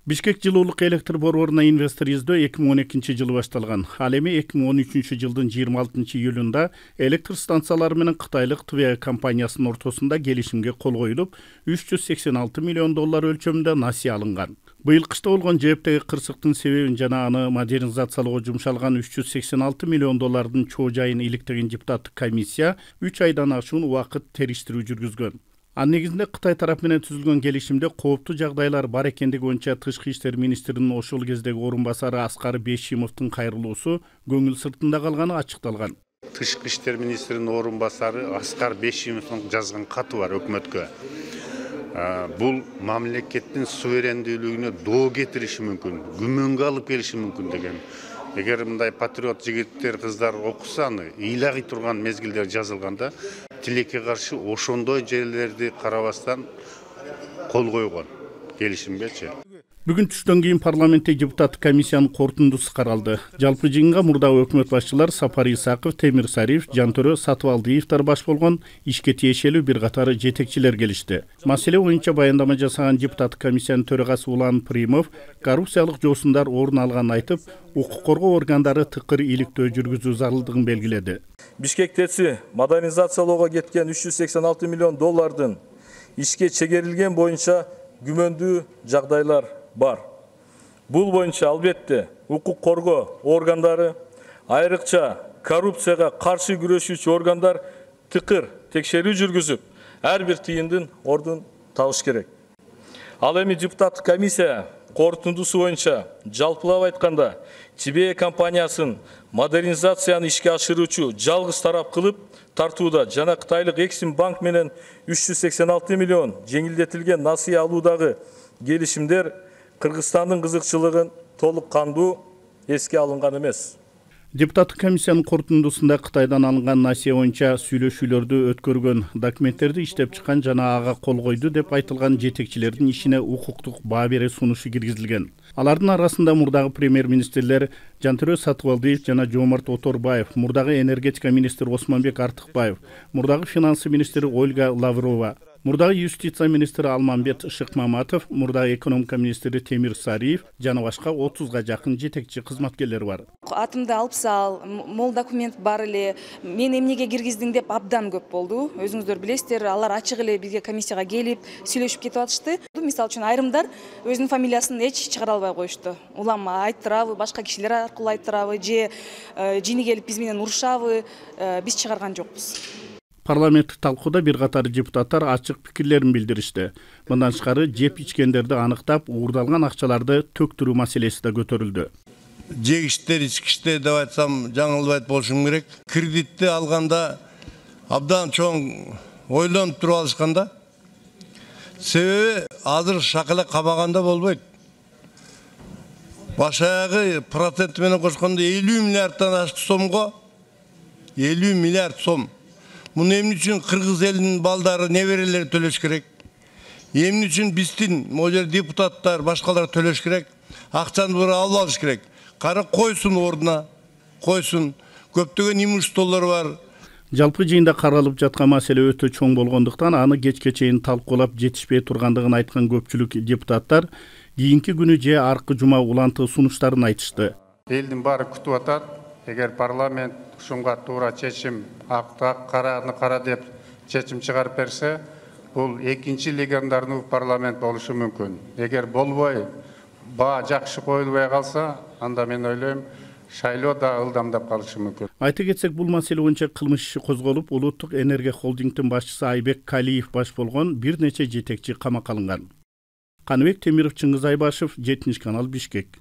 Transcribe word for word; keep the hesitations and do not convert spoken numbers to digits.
Бишкек жылуулук электр борборуна инвестор издөө эки миң он экинчи жылы башталган. Ал эми эки миң он үчүнчү жылдын жыйырма алтынчы июлунда электр станциялары менен Кытайлык Твеа компаниясынын ортосунда келишимге кол коюлуп, үч жүз сексен алты миллион доллар өлчөмүндө насыя алынган. Быйыл кышта болгон жээптеги кырсыктын себебин жана аны модернизациялоого жумшалган үч жүз сексен алты миллион доллардын чоо жайын иликтеген депутаттык комиссия үч айдан ашуун убакыт териштирүү жүргүзгөн. Анын негизинде Кытай тарап менен түзүлгөн келишимде кооптуу жагдайлар бар экендиги боюнча Тышкы иштер министринин ошол кездеги орун басары Аскар Бейшимовдун кайрылуусу көңүл сыртында калганы ачыкталган. Тышкы иштер министринин орун басары Аскар Бейшимовдун жазган каты бар өкмөткө. Бул мамлекеттин суверендүүлүгүнө доо кетириши мүмкүн, күмөнгө алып келиши мүмкүн деген. Эгер мындай патриот жигиттер, кыздар окуса аны ыйлагый турган мезгилдер жазылганда, тилекке каршы ошондой жерлерди карабастан кол койгон келишимгечи. Бүгүн түштөн кийин парламентте депутаттык комиссиянын корутундусу каралды. Жалпы жыйынга мурдагы өкмөт башчылар Сапар Исаков, Темир Сариев, Жантөрө Сатыбалдиевдер баш болгон ишке тиешелүү бир катары жетекчилер келишти. Маселе боюнча баяндама жасаган депутаттык комиссиянын төрагасы Улан Примов коррупциялык жоосундар орун алганын айтып, укук коргоо органдары тыкыр иликтөө жүргүзүү зарылдыгын белгиледи. Бишкектеси модернизациялоого кеткен үч жүз сексен алты миллион доллардын ишке чегерилген боюнча күмөндүү жагдайлар бар. Бул боюнча албетте укук коргоо органдары, айрыкча коррупцияга каршы күрөшүүчү органдар тыкыр текшерүү жүргүзүп, ар бир тыйындын ордун табыш керек. Ал эми депутаттык комиссия корутундусу боюнча жалпылап айтканда Твеа компаниясын модернизацияны ишке ашыруучу жалгыз тарап кылып тартууда жана Кытайлык Эксим банк менен үч жүз сексен алты миллион жеңилдетилген насыя алуудагы келишимдер Кыргызстандын кызыкчылыгын толук кандуу эске алынган эмес. Депутаттык комиссиянын корутундусунда Кытайдан алынган насыя боюнча сүйлөшүүлөрдү өткөргөн, документтерди иштеп чыккан жана ага кол койду деп айтылган жетекчилердин ишине укуктук баа бере сунушу киргизилген. Алардын арасында мурдагы премьер-министрлер Жантөрө Сатыбалдиев жана Жоомарт Оторбаев, мурдагы энергетика министри Осмонбек Артыкбаев, мурдагы финансы министри Ольга Лаврова, мурдагы юстиция министри Алмамбет Шыкмаматов, мурдагы экономика министри Темир Сариев жана башка отузга жакын жетекчи кызматкерлер бар. Атымды алып сал, мол документ бар эле, мен эмнеге киргиздиң деп абдан көп болду. Өзүңүздөр билесиздер, алар ачык эле бизге комиссияга келип, сүйлөшүп кетип атышты. Мисалы үчүн айрымдар өзүнүн фамилиясын эч чыгара албай коюшту. Улам айттырабы, башка кишилер аркылуу айттырабы, же жини келип биз менен урушабы, биз чыгарган жокпуз. Парламенттик талкууда бир катар депутаттар ачык пикирлерин билдиришти. Мындан тышкары жеп ичкендерди аныктап, уурдалган акчаларды төктүрүү маселеси да көтөрүлдү. Жегиштер, ичкиштер деп айтсам жаңылбайт болушум керек. Кредитти алганда абдан чоң ойлонуп туруп алышканда. Себеби азыр шакала кабаганда болбойт. Башагы процент менен кошкондо элүү миллиардтан ашык сомго элүү миллиард сом. Муну эмне үчүн кыргыз элинин балдары, неберелери төлөш керек? Эмне үчүн биздин могу депутаттар, башкалар төлөш керек? Акчаны бура алып алыш керек. Кара койсун ордуна, койсун. Көптөгөн имуществолор бар. Жалпы жыйында каралып жаткан маселе өтө чоң болгондуктан аны кечке чейин талкуулап жетишпей тургандыгын айткан көпчүлүк депутаттар кийинки күнү же аркы жума уланты сунуштарын айтышты. Элдин баары күтүп атат. Эгер парламент ушунга туура чечим, акта караны кара деп чечим чыгарып берсе, бул экинчи легендарный парламент болушу мүмкүн. Эгер болбой, баа жакшы коюлбай калса, анда мен ойлойм, шайлоо да ылдамдап калышы мүмкүн. Айта кетсек, бул маселе боюнча кылмыш иши козголуп, Улуттук энергия холдингдин башчысы Айбек Калиев баш болгон бир нече жетекчи камакка алынган. Каныбек Темиров, Чыңгыз Айбашев, жетинчи канал, Бишкек.